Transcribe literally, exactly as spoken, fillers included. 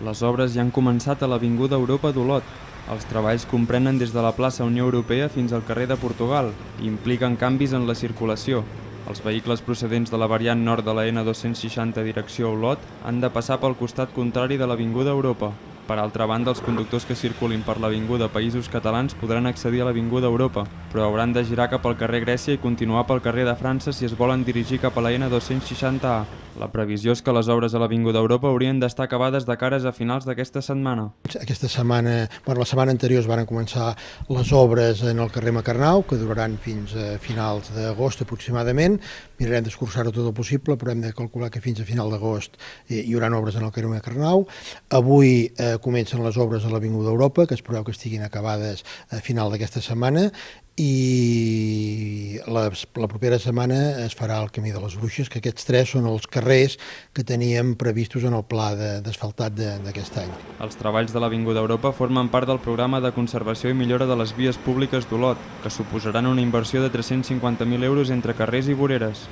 Les obres ja han començat a l'Avinguda Europa d'Olot. Els treballs comprenen des de la plaça Unió Europea fins al carrer de Portugal i impliquen canvis en la circulació. Els vehicles procedents de la variant nord de la ena dos-cents seixanta direcció Olot han de passar pel costat contrari de l'Avinguda Europa. Per altra banda, els conductors que circulin per l'Avinguda Països Catalans podran accedir a l'Avinguda Europa, però hauran de girar cap al carrer Grècia i continuar pel carrer de França si es volen dirigir cap a la ena dos-cents seixanta A. La previsió és que les obres a l'Avinguda Europa haurien d'estar acabades de cares a finals d'aquesta setmana. Aquesta setmana, bueno, la setmana anterior es van començar les obres en el carrer Macarnau, que duraran fins a finals d'agost aproximadament. Mirarem d'escurçar-ho tot el possible, però hem de calcular que fins a final d'agost hi haurà obres en el carrer Macarnau. Avui eh, comencen les obres a l'Avinguda Europa, que es preveu que estiguin acabades a final d'aquesta setmana, i la, la propera setmana es farà el Camí de les Bruixes, que aquests tres són els carrers que teníem previstos en el pla d'asfaltat d'aquest any. Els treballs de l'Avinguda Europa formen part del programa de conservació i millora de les vies públiques d'Olot, que suposaran una inversió de tres-cents cinquanta mil euros entre carrers i voreres.